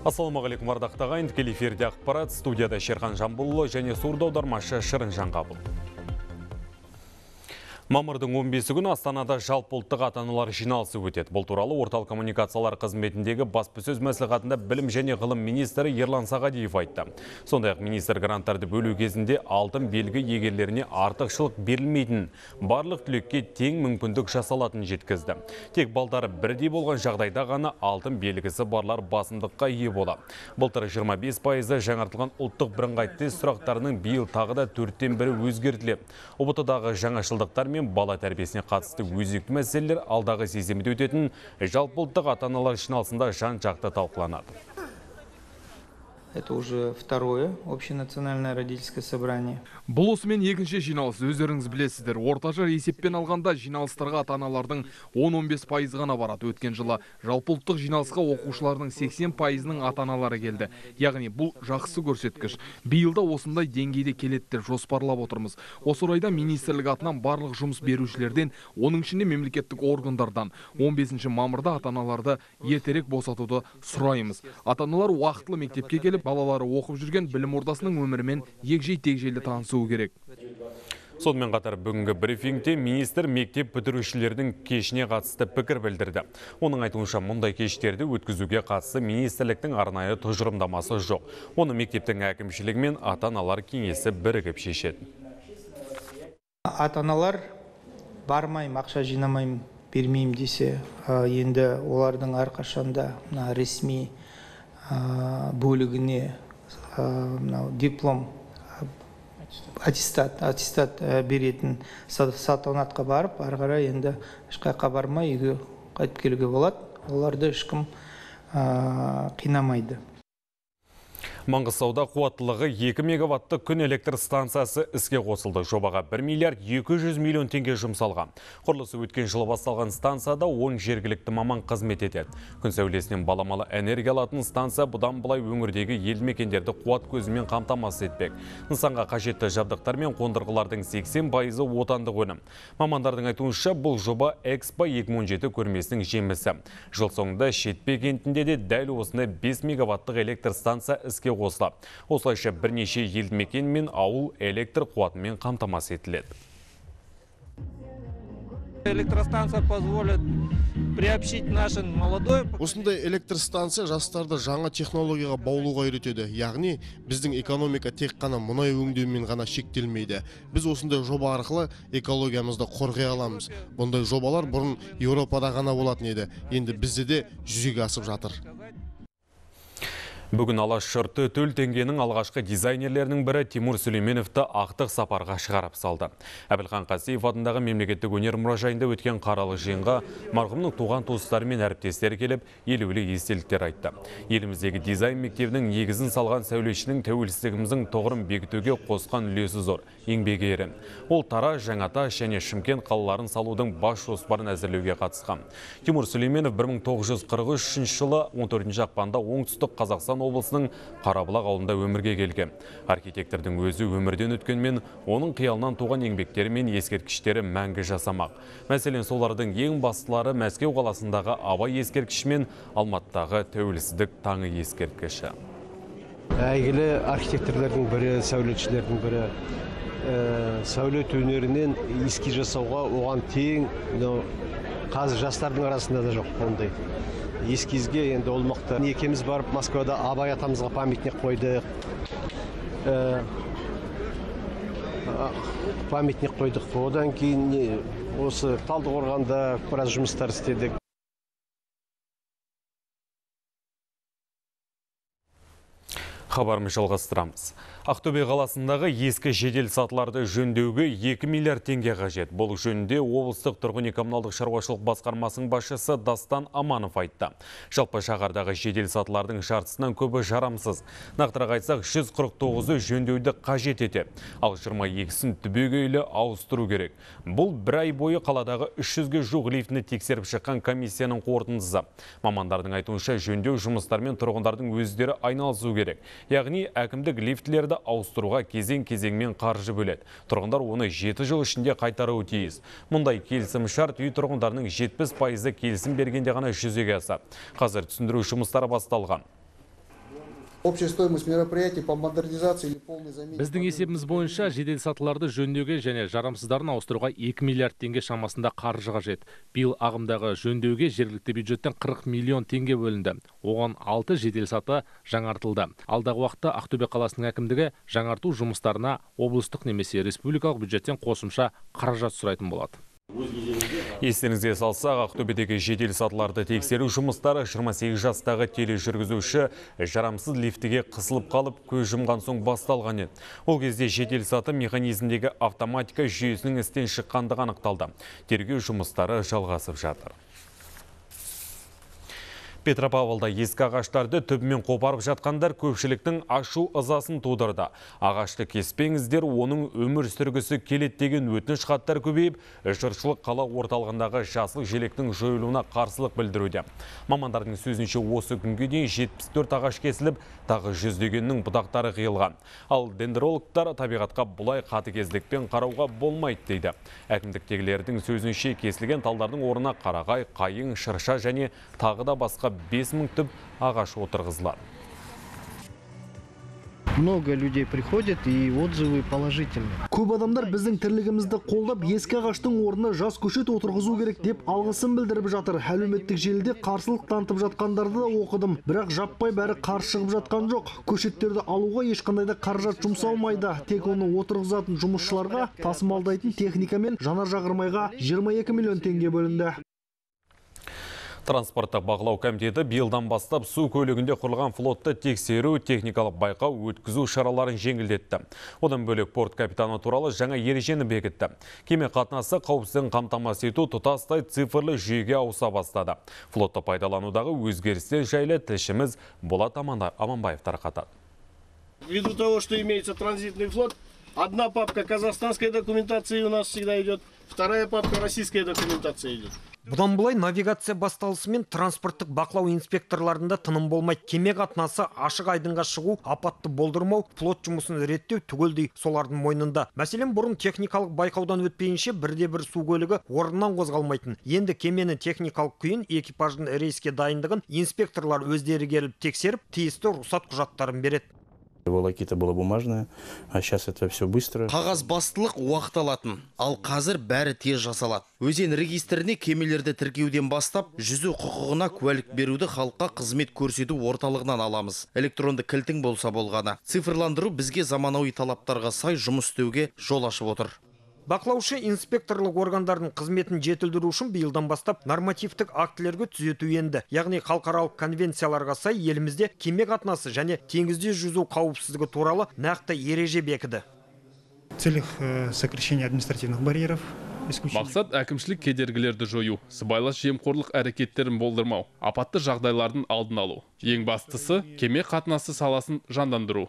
Ассалаумағалейкум ардақты ағайын, тікелей эфирде ақпарат, студияда Шерхан Жамбылұлы және сурдо аудармашы Шырын Жаңғабыл. Мамырдың 15 күні Астанада жалпыұлттық ата-аналар жиналысы өтеді. Бұл туралы орталық коммуникациялар қызметіндегі баспасөз мәслихатында білім және ғылым министрі Ерлан Сағадиев айтты. Сондай-ақ министр гранттарды бөлу кезінде алтын белгі иегерлеріне артықшылық берілмейтін, барлық түлекке тең мүмкіндік жасалатынын жеткізді. Тек балдары бірдей болған жағдайда ғана алтын белгісі барлар басымдыққа ие болады. Былтыр 25% жаңартылған ұлттық бірыңғай тест сұрақтарының биыл тағы да 4-тен бірі өзгертіледі. ұбт-дағы жаңашылдықтар мен бала тәрбиесіне қатысты өзекті мәселелер алдағы сезімде өтетін жалпыұлттық ата-аналар жиналысында жан-жақты талқыланады. Это уже второе общенациональное родительское собрание. Бұл осымен екінші жиналыс, өздеріңіз білесіздер. Орташа есеппен алғанда жиналыстарға ата-аналардың 10-15% ғана барады. Өткен жылы жалпыұлттық жиналысқа оқушылардың 80%-ның ата-аналары келді. Яғни бұл жақсы көрсеткіш. Биылда осындай деңгейде келеді деп жоспарлап отырмыз. Осы орайда министрлік атынан барлық жұмыс берушілерден, оның ішінде мемлекеттік органдардан 15 мамырда ата-аналарды ертерек босатуды сұраймыз. Ата-аналар уақытлы мектепке келіп, балалары оқып жүрген білім ордасының өмірімен егжей-тегжейлі танысуы керек. Сонымен қатар бүгінгі брифингте министр мектеп бітірушілердің кешіне қатысты пікір білдірді. Оның айтуынша мұндай кештерді өткізуге қатысты министрліктің арнайы тұжырымдамасы жоқ. Оны мектептің әкімшілігі мен ата-аналар кеңесі бірігіп шешеді. Ата-аналар бармайым, ақша жинамайым, бермеймін десе, енді олардың әрқашанда ресми бөлігіне диплом, аттестат беретін салтанатқа барып, ары қарай енді ешқайда бармай үйге қайтып келуге болады. Оларды ешкім қинамайды. Маңғыстауда қуаттылығы 2 мегаватты күн электр станциясы іске қосылды. Жобаға 1 миллиард 200 миллион теңге жұмсалған. Құрылысы өткен жылы басталған станцияда 10 жергілікті маман қызмет етеді. Күн сәулесінен баламалы энергия алатын станция бұдан былай өңірдегі елді мекендерді қуат көзімен қамтамасыз етпек. Нысанға қажетті жабдықтар мен қондырғылардың 80% отандық өнім. Мамандардың айтуынша бұл жоба Экспо 2017 көрмесінің жемісі. Жыл соңында Шетпе кентінде де дәл осындай 5 мегаваттық электр станция іске қосылды. Осылайша бірнеше елді мекен мен ауыл электр қуатымен қамтамасыз етіледі. Электростанция позволит приобщить наши молодой. Осындай электростанция жастарды жаңа технологияға баулуға үйретеді. Яғни біздің экономика тек қана мұнай өңдеумен ғана шектелмейді. Біз осындай жоба арқылы экологиямызды қорғай аламыз. Бұндай жобалар бұрын Еуропада ғана болатын еді. Енді бізде де жүзеге асып жатыр. Бүгін Алаш жұрты төл теңгенің алғашқы дизайнерлерінің бірі Тимур Сүлейменовті ақтық сапарға шығарып салды. Әбілхан Қасиев атындағы мемлекеттік өнер мұражайында өткен қаралы жиынға марқұмның туған туыстары мен әріптестері келіп, елеулі естеліктер айтты. Еліміздегі дизайн мектебінің негізін салған сәулетшінің тәуелсіздігіміздің тұғырын бекітуге қосқан үлесі зор, еңбегі ерен. Ол Тараз, Жаңатас және Шымкент қалаларын салудың бас жоспарын әзірлеуге қатысқан. Тимур Сүлейменов 1943 жылы 14 ақпанда оңтүстік Қазақстан облысының Қарабұлақ ауылында өмірге келген. Архитектордың өзі өмірден өткенмен, оның қиялынан туған еңбектері мен ескерткіштері мәңгі жасамақ. Мәселен, солардың ең бастылары Мәскеу қаласындағы Абай ескерткіші мен Алматыдағы Тәуелсіздік таңы ескерткіші. Әйгілі архитекторлардың бірі, сәулетшілердің бірі, сәулет өнерінен эскиз жасауға оған тең қазір жастардың арасында да жоқ ондай. Ескизге енді олмақты. Екеміз барып Москвада Абай атамызға памятник қойдық. Одан кейін осы Талдықорғанда біраз жұмыстар істедік. Хабарымыз жалғастырамыз. Ақтөбе қаласындағы ескі жедел сатыларды жөндеуге 2 миллиард теңге қажет. Бұл жөнінде облыстық тұрғын үй-коммуналдық шаруашылық басқармасының басшысы Дастан Аманов айтты. Жалпы шаһардағы жедел сатылардың жартысынан көбі жарамсыз. Нақтырақ айтсақ, 149-ы жөндеуді қажет етеді. Ал 22-сін түбегейлі ауыстыру керек. Бұл бір ай бойы қаладағы 300-ге жуық лифтіні тексеріп шыққан комиссияның қорытындысы. Мамандардың айтуынша жөндеу жұмыстарымен тұрғындардың өздері айналысу керек. Яғни әкімдік лифтлерді ауыстыруға кезең-кезеңмен қаржы бөледі. Тұрғындар оны 7 жыл ішінде қайтаруы тиіс. Мұндай келісім шарт үй тұрғындарының 70% келісім бергенде ғана жүзеге асады. Қазір түсіндіру жұмыстары басталған. Общая стоимость мероприятий по модернизации или полной замене. Біздің есебіміз бойынша жеделсатыларды жөндеуге және жарамсыздарын ауыстыруға 2 миллиард теңге шамасында қаржы қажет. Биыл ағымдағы жөндеуге жергілікті бюджеттен 40 миллион теңге бөлінді. Оған 6 жеделсаты жаңартылды. Алдағы уақытта Ақтөбе қаласының әкімдігі жаңарту жұмыстарына облыстық немесе республикалық бюджеттен қосымша қаражат сұрайтын болады. Естеріңізге салсақ, Ақтөбедегі жедел сатыларды тексеру жұмыстары 28 жастағы тележүргізуші жарамсыз лифтіге қысылып қалып, көз жұмған соң басталған еді. Ол кезде жедел саты механизмдегі автоматика жүйесінің істен шыққандығы анықталды. Тергеу жұмыстары жалғасып жатыр. Петропавлда ескі ағаштарды түбімен қопарып жатқандар көпшіліктің ашу ызасын тудырды. Ағашты кеспеңіздер, оның өмір сүргісі келет деген өтініш хаттар көбейіп, жұртшылық қала орталығындағы жасыл желектің жойылуына қарсылық білдіруде. Мамандардың сөзінше осы күнге дейін 74 ағаш кесіліп, тағы жүздегеннің бұтақтары қиылған. Ал дендрологтар табиғатқа бұлай қатыгездікпен қарауға болмайды дейді. Әкімдіктегілердің сөзінше кесілген талдардың орнына қарағай, қайың, шырша және тағы да басқа 5000 түп ағаш отырғызылады. Много людей приходят и отзывы положительные. Көп адамдар біздің тірлігімізді қолдап, ескі ағаштың орнына жас көшет отырғызу керек деп алғысын білдіріп жатыр. Әлеуметтік желіде қарсылық танытып жатқандарды да оқыдым. Бірақ жаппай бәрі қарсы шығып жатқан жоқ. Көшеттерді алуға ешқандай да қаражат жұмсалмайды. Тек оны отырғызатын жұмысшыларға, тасымалдайтын техника мен жанар жағармайға 22 миллион теңге бөлінді. Транспорттық бақылау комитеті биылдан бастап су көлігінде құрылған флотты тексеру, техникалық байқау, өткізу шараларын жеңілдетті. Одан бөлек порт капитаны туралы жаңа ережені бекітті. Кеме қатынасы қауіпсіздігін қамтамасыз ету тұтастай цифрлы жүйеге ауыса бастады. Флотты пайдаланудағы өзгерістер жайлы тілшіміз Болат Аманбаев тарқатады. Ввиду того, что имеется транзитный флот, одна папка казахстанской документации у нас всегда идет, вторая папка российской документации идет. Бұдан бұлай навигация басталысымен транспорттық бақылау инспекторларында тыным болмайды. Кеме қатынасы ашық айдынға шығу, апатты болдырмау, флот жұмысын реттеу түгелдей солардың мойнында. Мәселен, бұрын техникалық байқаудан өтпейінше бірде-бір су көлігі орнынан қозғалмайтын. Енді кемені техникалық күйін, экипаждың рейске дайындығын инспекторлар өздері келіп тексеріп, тиісті рұқсат құжаттарын береді. Волокита было бумажное, а сейчас это все быстро. Қағаз бастылық уақыт алатын, ал қазір бәрі тез жасалады. Өзен регистріне кемелерді тіркеуден бастап, жүзу құқығына куәлік беруді халыққа қызмет көрсету орталығынан аламыз. Электронды кілтің болса болғаны. Цифрландыру бізге заманауи талаптарға сай жұмыс істеуге жол ашып отыр. Бақылаушы инспекторлық органдардың қызметін жетілдіру үшін биылдан бастап нормативтік актілерге түзету енді. Яғни халықаралық конвенцияларға сай елімізде кеме қатынасы және теңізде жүзу қауіпсіздігі туралы нақты ереже бекіді. В целях сокращения административных барьеров. Мақсат әкімшілік кедергілерді жою, сыбайлас жемқорлық әрекеттерін болдырмау, апатты жағдайлардың алдын алу. Ең бастысы кеме қатынасы саласын жандандыру.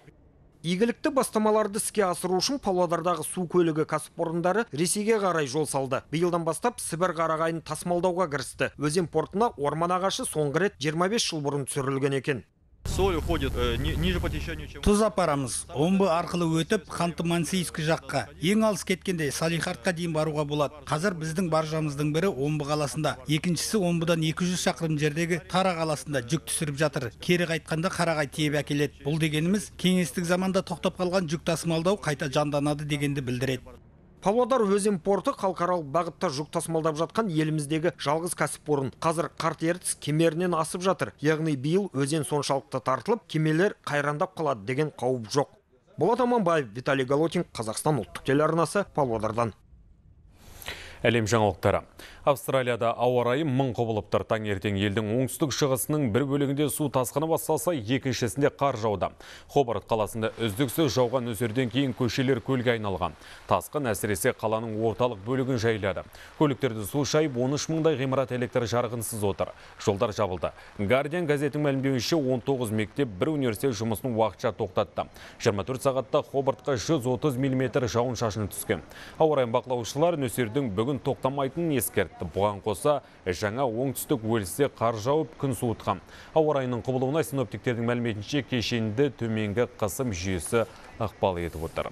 Игілікті бастамаларды іске асыру үшін Павлодардағы су көлігі кәсіпорындары Ресейге қарай жол салды. Биылдан бастап Сібір қарағайын тасымалдауға кірісті. Өзен портына орман ағашы соңғы рет 25 жыл бұрын түсірілген екен. Соль уходит ниже по течению, чем... Тұз апарамыз. Омбы арқылы өтіп, Ханты-Мансийск жаққа. Ең алыс кеткенде Салихардқа дейін баруға болады. Қазір біздің баржамыздың бірі Омбы қаласында. Екіншісі Омбыдан 200 шақырым жердегі Тара қаласында жүк түсіріп жатыр. Кері қайтқанда Қарағай тиеп әкеледі. Бұл дегеніміз кеңестік заманда тоқтап қалған жүк тасымалдау қайта жанданады дегенді білдіреді. Павлодар өзен порты халықаралық бағытта жүк тасымалдап жатқан еліміздегі жалғыз кәсіпорын. Қазір қарт ертіс кемерінен асып жатыр. Яғни биыл өзен соншалықты тартылып, кемелер қайрандап қалады деген қауіп жоқ. Болат Аманбаев, Виталий Голотин, Қазақстан ұлттық телеарнасы, Павлодардан. Әлем жаңалықтары. Австралияда ауа райы мың құбылып тұр. Таңертең елдің оңтүстік шығысының бір бөлігінде су тасқыны басталса, екіншісінде қар жауда. Хобарт қаласында үздіксіз жауған нөсерден кейін көшелер көлге айналған. Тасқын әсіресе қаланың орталық бөлігін жайлады. Көліктерді су шайып 13 мыңдай ғимарат электр жарығынсыз отыр. Жолдар жабылды. Guardian газетінің мәлімдеуінше 19 мектеп, бір университет жұмысын уақытша тоқтатты. 24 сағатта Хобартқа 130 мм жауын шашын түскен. Ауа райын бақылаушылар нөсердің бүгін тоқтамайтынын ескертті. Бұған қоса жаңа оңтүстік Уэльсте қар жауып күн суытқан. Ауа райының құбылуына синоптиктердің мәліметінше кешенді төменгі қысым жүйесі ықпал етіп отыр.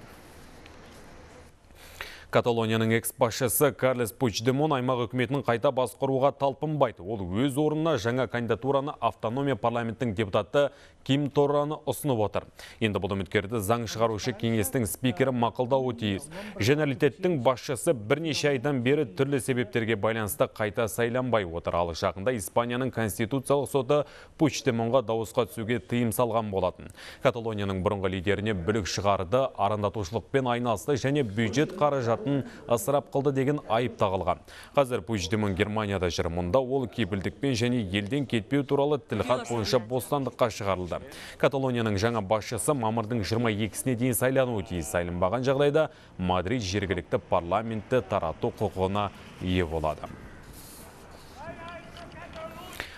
Каталонияның экс-басшысы Карлес Пучдемон аймақ үкіметінің қайта басқаруға талпынбайды. Ол өз орнына жаңа кандидатураны автономия парламенттің депутаты Ким Торраны ұсынып отыр. Енді бұл үміткерді заң шығарушы кеңестің спикері мақұлдауы тиіс. Женералитеттің басшысы бірнеше айдан бері түрлі себептерге байланысты қайта сайланбай отыр. Ал жақында Испанияның конституциялық соты Пучдемонға дауысқа түсуге тыйым салған болатын. Каталонияның бұрынғы лидеріне бүлік шығарды, арандатушылықпен айналысты және бюджет қаражатын ысырап қылды деген айып тағылған. Қазір Пучдемон Германияда жүр. Мұнда ол кепілдікпен және елден кетпеу туралы тілхат бойынша бостандыққа шығарылды. Каталонияның жаңа басшысы мамырдың 22-сіне дейін сайлануы тиіс. Сайланбаған жағдайда Мадрид жергілікті парламентті тарату құқығына ие болады.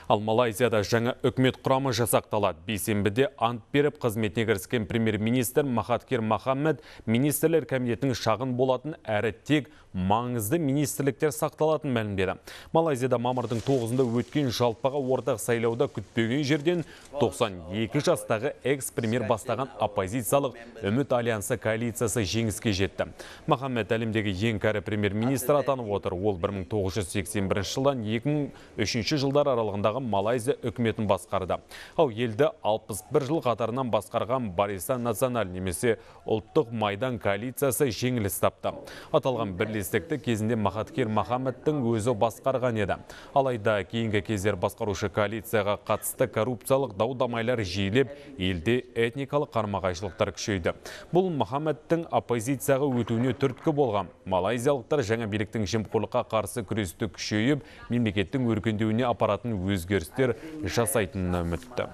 Ал Малайзияда жаңа үкімет құрамы жасақталады. Бейсенбіде ант беріп қызметіне кіріскен премьер-министр Махатхир Мохаммед министрлер комитетінің шағын болатын әрі тек маңызды министрліктер сақталатын мәлімдеді. Малайзияда мамырдың 9-ында өткен жалпыға ортақ сайлауда күтпеген жерден 92 жастағы экс-премьер бастаған оппозициялық үміт альянсы коалициясы жеңіске жетті. Мохаммед әлемдегі ең кәрі премьер-министр атанып отыр. Ол 1981 жылдан 2003 жылдар аралығындағы Малайзия үкіметін басқарды. Ал елді 61 жыл қатарынан басқарған Барисан Националь немесе ұлттық майдан коалициясы жеңіліс тапты. Аталған бірлестікті кезінде Махатхир Мохаммедтің өзі басқарған еді. Алайда кейінгі кездер басқарушы коалицияға қатысты коррупциялық дау-дамайлар жиілеп, елде этникалық қарама-қайшылықтар күшейді. Бұл Мохаммедтің оппозицияға өтуіне түрткі болған. Малайзиялықтар жаңа биліктің жемқорлыққа қарсы күресті күшейіп, мемлекеттің өркендеуіне апаратын өзгерістер жасайтынына үмітті.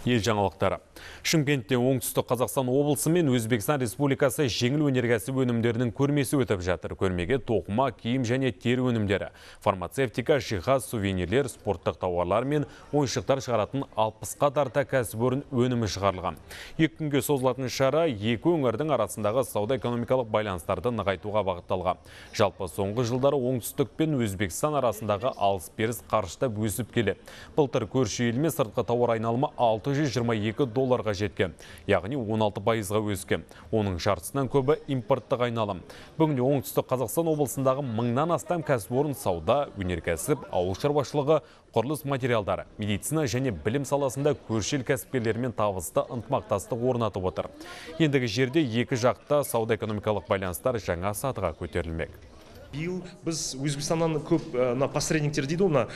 Ел жаңалықтары. Шымкентте оңтүстік Қазақстан облысы мен Өзбекстан Республикасы жеңіл өнеркәсіп өнімдерінің көрмесі өтіп жатыр. Көрмеге тоқыма, киім және тері өнімдері, фармацевтика, жиһаз, сувенирлер, спорттық тауарлар мен ойыншықтар шығаратын 60-қа тарта кәсіпорын өнімі шығарылған. 2 күнге созылатын шара екі өңірдің арасындағы сауда-экономикалық байланыстарды нығайтуға бағытталған. Жалпы соңғы жылдары оңтүстік пен Өзбекстан арасындағы алыс-беріс қарыштап өсіп келеді. Былтыр көрші елмен сыртқы тауар айналымы $622 жеткен, яғни 16%-ға өскен. Оның жартысынан көбі импорттық айналым. Бүгінде оңтүстік Қазақстан облысындағы 1000-нан астам кәсіпорын сауда, өнеркәсіп, ауыл шаруашылығы, құрылыс материалдары, медицина және білім саласында көрші ел кәсіпкерлерімен табысты ынтымақтастық орнатып отыр. Ендігі жерде екі жақта сауда-экономикалық байланыстар жаңа сатыға көтерілмек. Биыл біз Өзбекстаннан көп посредниктер дейді,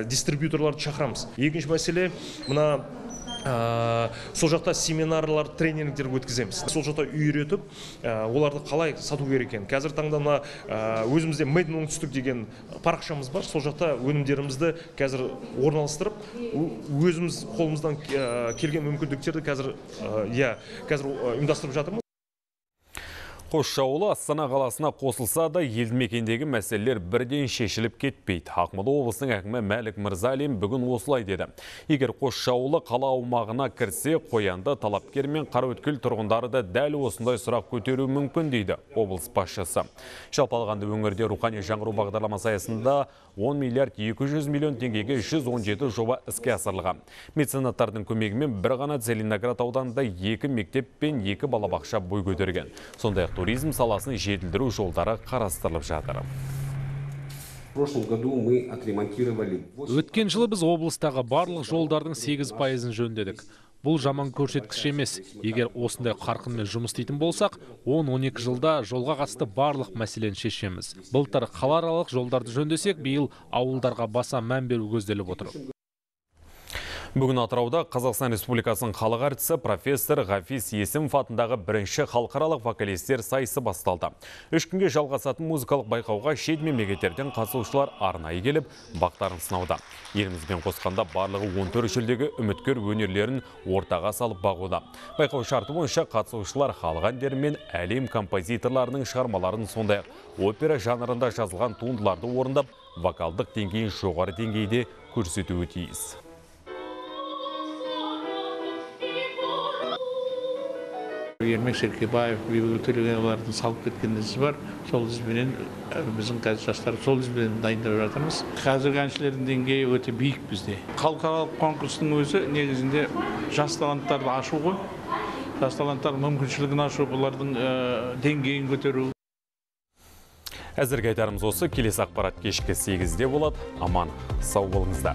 дистрибьюторларды шақырамыз. Екінші мәселе, сол жақта семинарлар, тренингтер өткіземіз. Сол жақта үйретіп, оларды қалай сату керек екен. Қазір таңда өзімізде Made in Оңтүстік деген парақшамыз бар. Сол жақта өнімдерімізді қазір орналастырып, өзіміз қолымыздан келген мүмкіндіктерді қазір ұйымдастырып жатырмыз. Қосшы ауылы Астана қаласына қосылса да елді мекендегі мәселелер бірден шешіліп кетпейді. Ақмола облысының әкімі Мәлік Мырзалин бүгін осылай деді. Егер Қосшы ауылы қала аумағына кірсе, Қоянды, Талапкер мен Қараөткел тұрғындары да дәл осындай сұрақ көтеруі мүмкін дейді облыс басшысы. Жалпы алғанда өңірде рухани жаңғыру бағдарламасы аясында 10 миллиард 200 миллион теңгеге 117 жоба іске асырылған. Меценаттардың көмегімен бір ғана Целиноград ауданында 2 мектеп пен 2 балабақша бой көтерген. Сондай-ақ туризм саласын жетілдіру жолдары қарастырылып жатыр. Өткен жылы біз облыстағы барлық жолдардың 8%-ын жөндедік. Бұл жаман көрсеткіш емес. Егер осындай қарқынмен жұмыс істейтін болсақ, 10-12 жылда жолға қатысты барлық мәселені шешеміз. Былтыр қалааралық жолдарды жөндесек, биыл ауылдарға баса мән беру көзделіп отыр. Бүгін Атырауда Қазақстан Республикасының халық әртісі профессор Ғафис Есімов атындағы бірінші халықаралық вокалистер сайысы басталды. 3 күнге жалғасатын музыкалық байқауға шет мемлекеттерден қатысушылар арнайы келіп, бақтарын сынауда. Елімізбен қосқанда барлығы 14 жүлдеге үміткер өнерлерін ортаға салып бағуда. Байқау шарты бойынша қатысушылар халық әндері мен әлем композиторларының шығармаларын, сондай-ақ опера жанрында жазылған туындыларды орындап, вокалдық деңгейін жоғары деңгейде көрсетуі тиіс. Ермек Серкебаев, Бибігүл Төлегеновалардың салып кеткен ізі бар. Сол ізбенен біздің қазір жастар сол ізбенен дайындап жатырмыз. Қазіргі әншілердің деңгейі өте биік бізде. Халықаралық конкурстың өзі негізінде жас таланттарды ашу ғой. Жас таланттардың мүмкіншілігін ашу, бұлардың деңгейін көтеру. Әзірге айтарымыз осы. Келесі ақпарат кешкі 8-де болады. Аман, сау болыңыздар.